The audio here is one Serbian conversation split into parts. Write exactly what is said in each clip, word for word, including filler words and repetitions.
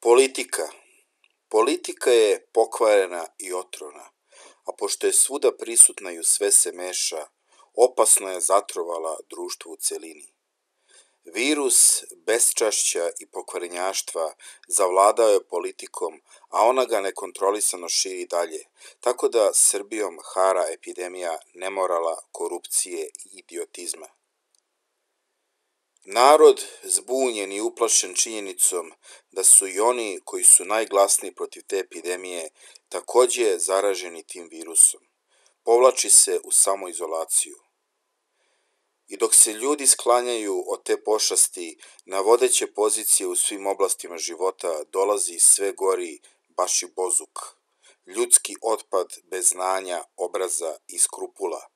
Politika. Politika je pokvarena i otrovna, a pošto je svuda prisutna i u sve se meša, opasno je zatrovala društvo u celini. Virus beščašća i pokvarenjaštva zavladao je politikom, a ona ga nekontrolisano širi dalje, tako da Srbijom hara epidemija nemorala, korupcije i idiotizma. Narod, zbunjen i uplašen činjenicom da su i oni koji su najglasniji protiv te epidemije takođe zaraženi tim virusom, povlači se u samoizolaciju. I dok se ljudi sklanjaju od te pošasti, na vodeće pozicije u svim oblastima života dolazi sve gori baš i bozuk, ljudski otpad bez znanja, obraza i skrupula.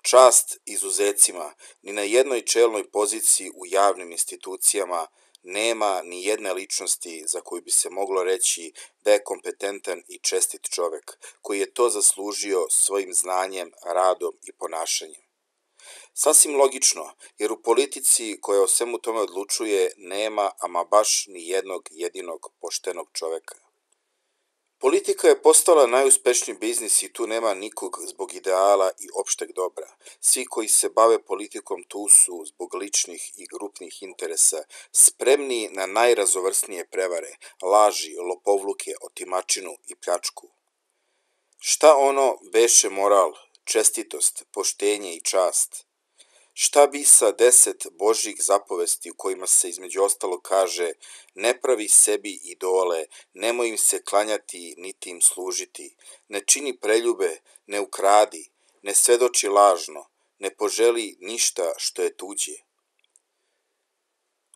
Čast izuzecima, ni na jednoj čelnoj poziciji u javnim institucijama nema ni jedne ličnosti za koju bi se moglo reći da je kompetentan i čestit čovek, koji je to zaslužio svojim znanjem, radom i ponašanjem. Sasvim logično, jer u politici koja o svemu tome odlučuje nema ama baš ni jednog jedinog poštenog čoveka. Politika je postala najuspešniji biznis i tu nema nikog zbog ideala i opšteg dobra. Svi koji se bave politikom tu su zbog ličnih i grupnih interesa spremni na najrazovrsnije prevare, laži, lopovluke, otimačinu i pljačku. Šta ono beše moral, čestitost, poštenje i čast? Šta bi sa deset božjih zapovesti u kojima se između ostalo kaže ne pravi sebi idole, nemoj im se klanjati niti im služiti, ne čini preljube, ne ukradi, ne svedoči lažno, ne poželi ništa što je tuđe.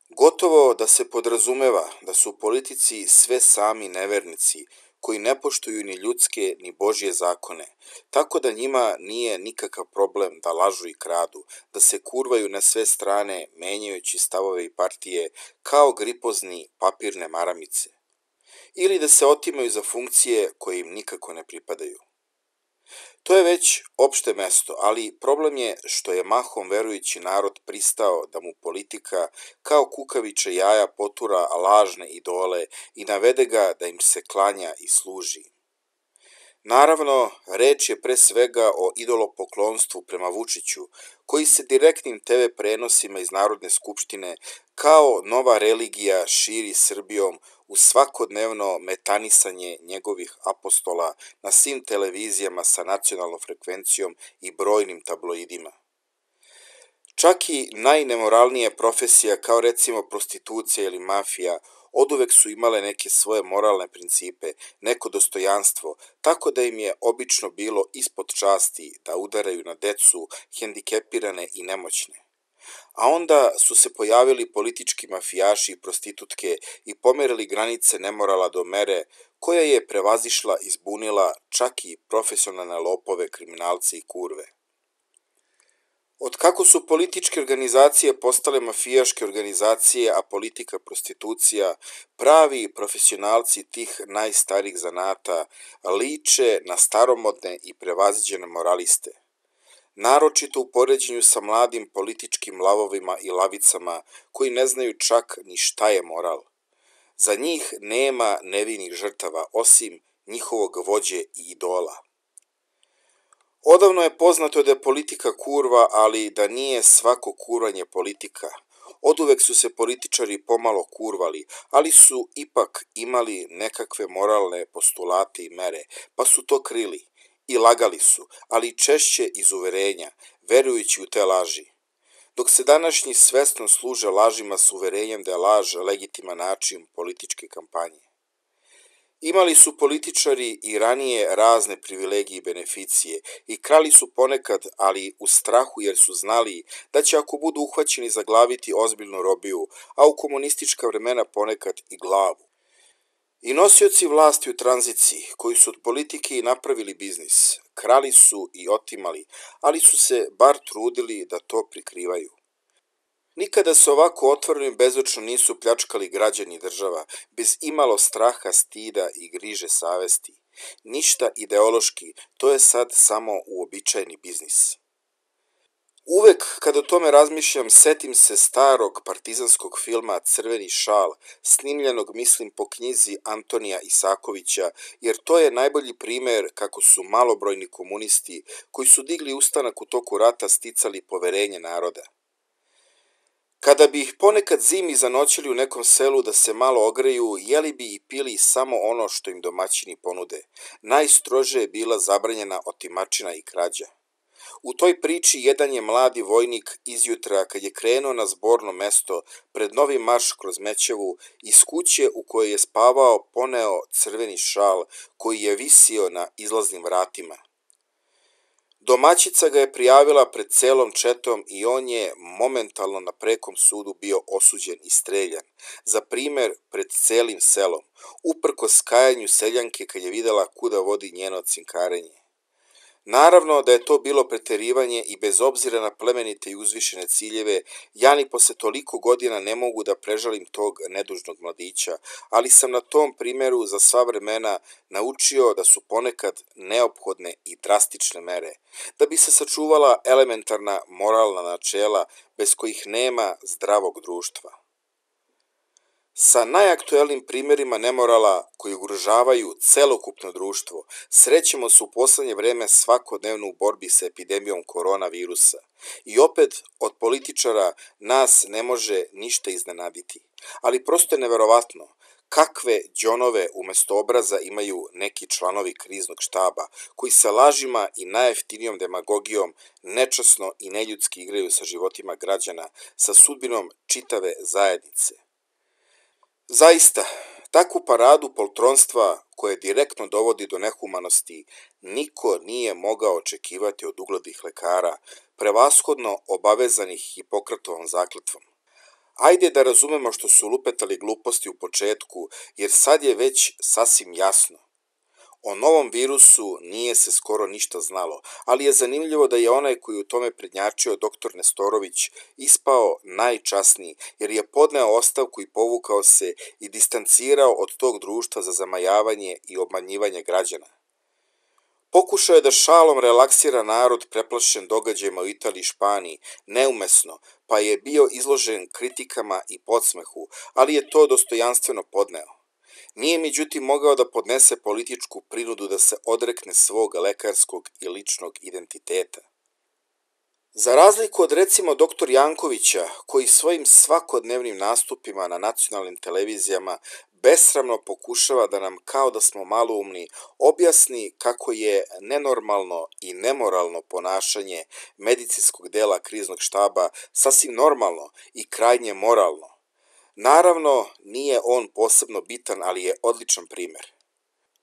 Gotovo da se podrazumeva da su u politici sve sami nevernici, koji ne poštuju ni ljudske ni božje zakone, tako da njima nije nikakav problem da lažu i kradu, da se kurvaju na sve strane menjajući stavove i partije kao gripozni papirne maramice, ili da se otimaju za funkcije koje im nikako ne pripadaju. To je već opšte mesto, ali problem je što je mahom verujući narod pristao da mu politika kao kukaviče jaja potura lažne idole i navede ga da im se klanja i služi. Naravno, reč je pre svega o idolopoklonstvu prema Vučiću, koji se direktnim te ve prenosima iz Narodne skupštine kao nova religija širi Srbijom uz svakodnevno metanisanje njegovih apostola na svim televizijama sa nacionalnom frekvencijom i brojnim tabloidima. Čak i najnemoralnije profesija kao recimo prostitucija ili mafija oduvek su imale neke svoje moralne principe, neko dostojanstvo, tako da im je obično bilo ispod časti da udaraju na decu, hendikepirane i nemoćne. A onda su se pojavili politički mafijaši i prostitutke i pomerili granice nemorala do mere koja je prevazišla i zbunila čak i profesionalne lopove, kriminalce i kurve. Od kako su političke organizacije postale mafijaške organizacije, a politika prostitucija, pravi profesionalci tih najstarijih zanata liče na staromodne i prevaziđene moraliste. Naročito u poređenju sa mladim političkim lavovima i lavicama koji ne znaju čak ni šta je moral. Za njih nema nevinih žrtava osim njihovog vođe i idola. Odavno je poznato da je politika kurva, ali da nije svako kurvanje politika. Oduvek su se političari pomalo kurvali, ali su ipak imali nekakve moralne postulate i mere, pa su to krili. I lagali su, ali češće iz uverenja, verujući u te laži. Dok se današnji svesno služe lažima s uverenjem da je laž legitiman način političke kampanje. Imali su političari i ranije razne privilegije i beneficije i krali su ponekad, ali u strahu jer su znali da će ako budu uhvaćeni zaglaviti ozbiljnu robiju, a u komunistička vremena ponekad i glavu. I nosioci vlasti u tranziciji, koji su od politike i napravili biznis, krali su i otimali, ali su se bar trudili da to prikrivaju. Nikada se ovako otvoreno i bezočno nisu pljačkali građani država, bez imalo straha, stida i griže savesti. Ništa ideološki, to je sad samo uobičajeni biznis. Uvek kad o tome razmišljam, setim se starog partizanskog filma Crveni šal, snimljenog, mislim, po knjizi Antonija Isakovića, jer to je najbolji primer kako su malobrojni komunisti, koji su digli ustanak u toku rata, sticali poverenje naroda. Kada bi ih ponekad zimi zanoćili u nekom selu da se malo ogreju, jeli bi i pili samo ono što im domaćini ponude. Najstrože je bila zabranjena otimačina i krađa. U toj priči jedan je mladi vojnik izjutra, kad je krenuo na zborno mesto pred novi marš kroz Mećevu, iz kuće u kojoj je spavao poneo crveni šal koji je visio na izlaznim vratima. Domaćica ga je prijavila pred celom četom i on je momentalno na prekom sudu bio osuđen i streljan, za primer pred celim selom, uprkos kajanju seljanke kad je videla kuda vodi njeno cinkarenje. Naravno da je to bilo preterivanje i bez obzira na plemenite i uzvišene ciljeve, ja ni posle toliko godina ne mogu da prežalim tog nedužnog mladića, ali sam na tom primeru za sva vremena naučio da su ponekad neophodne i drastične mere, da bi se sačuvala elementarna moralna načela bez kojih nema zdravog društva. Sa najaktuelnim primjerima nemorala koji ugrožavaju celokupno društvo srećemo se u poslednje vreme svakodnevno u borbi sa epidemijom koronavirusa. I opet od političara nas ne može ništa iznenaditi. Ali prosto je neverovatno kakve đonove umesto obraza imaju neki članovi kriznog štaba koji sa lažima i najjeftinijom demagogijom nečasno i neljudski igraju sa životima građana, sa sudbinom čitave zajednice. Zaista, takvu paradu poltronstva koje direktno dovodi do nehumanosti niko nije mogao očekivati od uglednih lekara, prevashodno obavezanih Hipokratovom zakletvom. Ajde da razumemo što su lupetali gluposti u početku, jer sad je već sasvim jasno. O novom virusu nije se skoro ništa znalo, ali je zanimljivo da je onaj koji u tome prednjačio doktor Nestorović ispao najčasniji, jer je podneo ostavku i povukao se i distancirao od tog društva za zamajavanje i obmanjivanje građana. Pokušao je da šalom relaksira narod preplašen događajima u Italiji i Španiji, neumesno, pa je bio izložen kritikama i podsmehu, ali je to dostojanstveno podneo. Nije međutim mogao da podnese političku prinudu da se odrekne svog lekarskog i ličnog identiteta. Za razliku od recimo doktor Jankovića, koji svojim svakodnevnim nastupima na nacionalnim televizijama besramno pokušava da nam, kao da smo maloumni, objasni kako je nenormalno i nemoralno ponašanje medicinskog dela kriznog štaba sasvim normalno i krajnje moralno. Naravno, nije on posebno bitan, ali je odličan primer.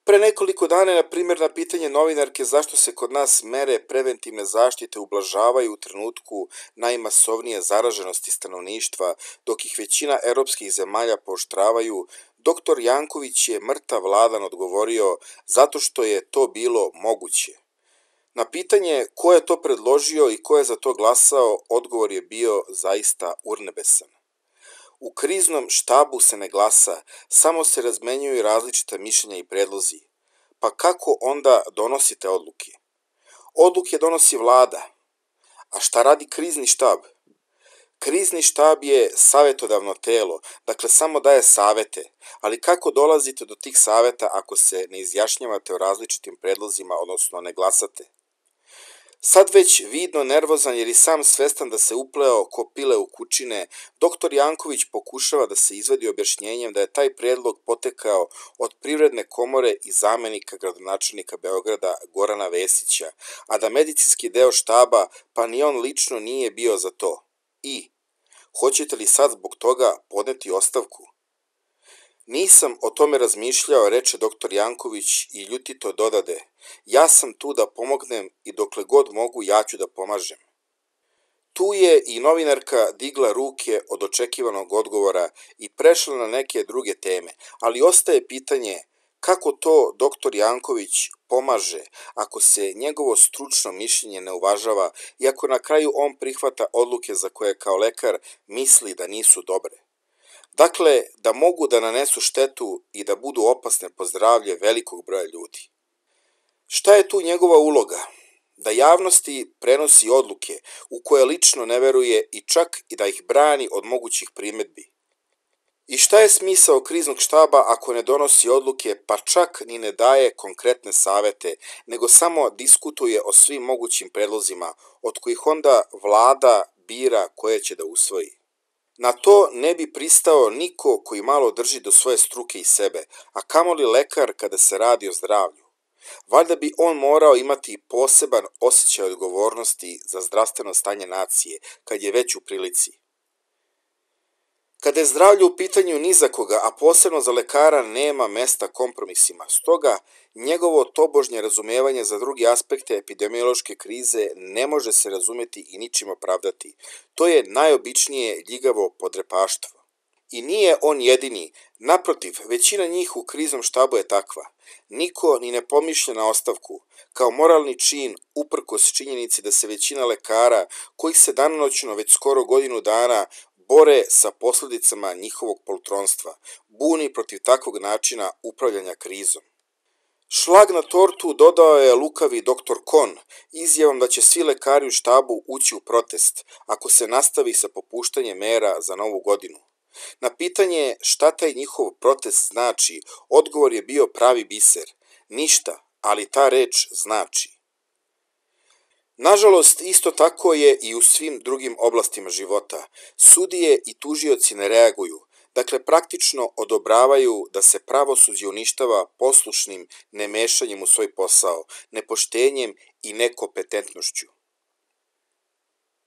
Pre nekoliko dana, na primjer, na pitanje novinarke zašto se kod nas mere preventivne zaštite ublažavaju u trenutku najmasovnije zaraženosti stanovništva, dok ih većina evropskih zemalja pooštravaju, doktor Janković je mrtav ladan odgovorio zato što je to bilo moguće. Na pitanje ko je to predložio i ko je za to glasao, odgovor je bio zaista urnebesan. U kriznom štabu se ne glasa, samo se razmenjuju različita mišljenja i predlozi. Pa kako onda donosite odluke? Odluke donosi vlada. A šta radi krizni štab? Krizni štab je savetodavno telo, dakle samo daje savete, ali kako dolazite do tih saveta ako se ne izjašnjavate o različitim predlozima, odnosno ne glasate? Sad već vidno nervozan jer i sam svestan da se upleo ko pile u kučine, doktor Janković pokušava da se izvedi objašnjenjem da je taj predlog potekao od Privredne komore i zamenika gradonačelnika Beograda Gorana Vesića, a da medicinski deo štaba, pa ni on lično nije bio za to. I, hoćete li sad zbog toga podneti ostavku? Nisam o tome razmišljao, reče doktor Janković i ljutito dodade, ja sam tu da pomognem i dokle god mogu ja ću da pomažem. Tu je i novinarka digla ruke od očekivanog odgovora i prešla na neke druge teme, ali ostaje pitanje kako to doktor Janković pomaže ako se njegovo stručno mišljenje ne uvažava i ako na kraju on prihvata odluke za koje kao lekar misli da nisu dobre. Dakle, da mogu da nanesu štetu i da budu opasne po zdravlje velikog broja ljudi. Šta je tu njegova uloga? da javnosti prenosi odluke u koje lično ne veruje i čak i da ih brani od mogućih primjedbi. I šta je smisao kriznog štaba ako ne donosi odluke, pa čak ni ne daje konkretne savete, nego samo diskutuje o svim mogućim predlozima, od kojih onda vlada bira koje će da usvoji. Na to ne bi pristao niko koji malo drži do svoje struke i sebe, a kamoli lekar kada se radi o zdravlju. Valjda bi on morao imati poseban osjećaj odgovornosti za zdravstveno stanje nacije, kad je već u prilici. Kada je zdravlje u pitanju ni za koga, a posebno za lekara, nema mesta kompromisima. Stoga, njegovo tobožnje razumevanje za druge aspekte epidemiološke krize ne može se razumjeti i ničim opravdati. To je najobičnije ljigavo podrepaštvo. I nije on jedini, naprotiv, većina njih u kriznom štabu je takva. Niko ni ne pomišlja na ostavku, kao moralni čin uprkos činjenici da se većina lekara, kojih se danonoćno već skoro godinu dana bore sa posljedicama njihovog poltronstva, buni protiv takvog načina upravljanja krizom. Šlag na tortu dodao je lukavi doktor Kon izjavom da će svi lekari u štabu ući u protest ako se nastavi sa popuštanjem mera za novu godinu. Na pitanje šta taj njihov protest znači, odgovor je bio pravi biser. Ništa, ali ta reč znači. Nažalost, isto tako je i u svim drugim oblastima života. Sudije i tužioci ne reaguju, dakle praktično odobravaju da se pravosuđe uništava poslušnim nemešanjem u svoj posao, nepoštenjem i nekompetentnošću.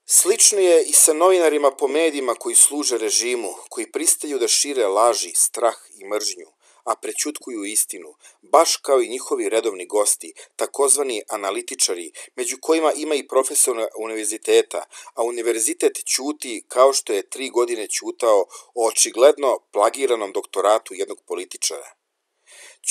Slično je i sa novinarima po medijima koji služe režimu, koji pristaju da šire laži, strah i mržnju, a prećutkuju istinu, baš kao i njihovi redovni gosti, takozvani analitičari, među kojima ima i profesor univerziteta, a univerzitet ćuti kao što je tri godine ćutao o očigledno plagiranom doktoratu jednog političara.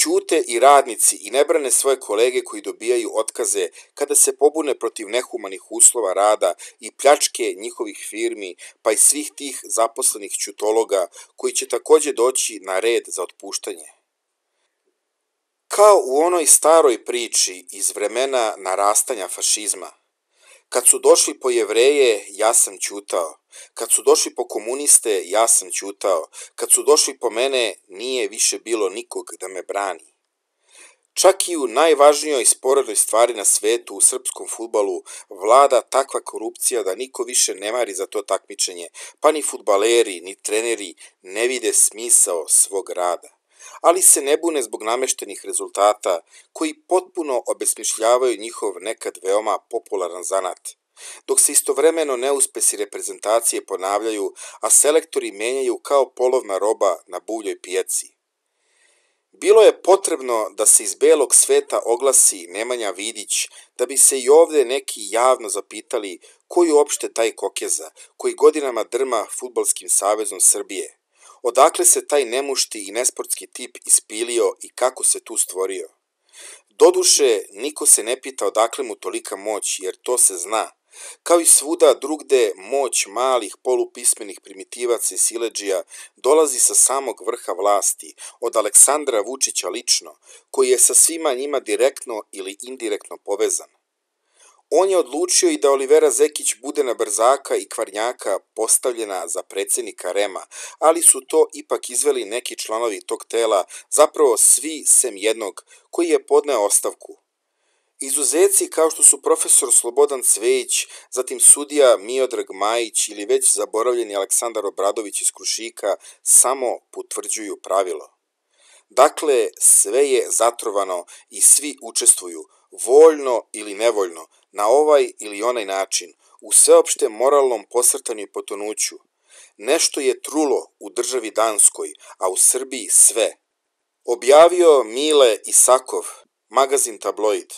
Ćute i radnici i ne brane svoje kolege koji dobijaju otkaze kada se pobune protiv nehumanih uslova rada i pljačke njihovih firmi, pa i svih tih zaposlenih ćutologa koji će također doći na red za otpuštanje. Kao u onoj staroj priči iz vremena narastanja fašizma. Kad su došli po Jevreje, ja sam ćutao. Kad su došli po komuniste, ja sam ćutao. Kad su došli po mene, nije više bilo nikog da me brani. Čak i u najvažnijoj sporednoj stvari na svetu, u srpskom fudbalu, vlada takva korupcija da niko više ne mari za to takmičenje, pa ni fudbaleri, ni treneri ne vide smisao svog rada. Ali se ne bune zbog nameštenih rezultata koji potpuno obesmišljavaju njihov nekad veoma popularan zanat, dok se istovremeno neuspesi reprezentacije ponavljaju, a selektori menjaju kao polovna roba na buvljoj pijaci. Bilo je potrebno da se iz belog sveta oglasi Nemanja Vidić, da bi se i ovdje neki javno zapitali ko je uopšte taj Kokeza, koji godinama drma Fudbalskim savezom Srbije. Odakle se taj nemušti i nesportski tip ispilio i kako se tu stvorio? Doduše, niko se ne pita odakle mu tolika moć, jer to se zna. Kao i svuda drugde, moć malih polupismenih primitivaca i siledžija dolazi sa samog vrha vlasti, od Aleksandra Vučića lično, koji je sa svima njima direktno ili indirektno povezan. On je odlučio i da Olivera Zekić bude na brzaka i kvarnjaka postavljena za predsjednika Rema, ali su to ipak izveli neki članovi tog tela, zapravo svi sem jednog, koji je podneo ostavku. Izuzeci kao što su profesor Slobodan Cvejić, zatim sudija Miodrag Majić ili već zaboravljeni Aleksandar Obradović iz Krušika samo potvrđuju pravilo. Dakle, sve je zatrovano i svi učestvuju, voljno ili nevoljno, na ovaj ili onaj način, u sveopšte moralnom posrtanju i potonuću. Nešto je trulo u državi Danskoj, a u Srbiji sve. Objavio Mile Isakov, magazin Tabloid.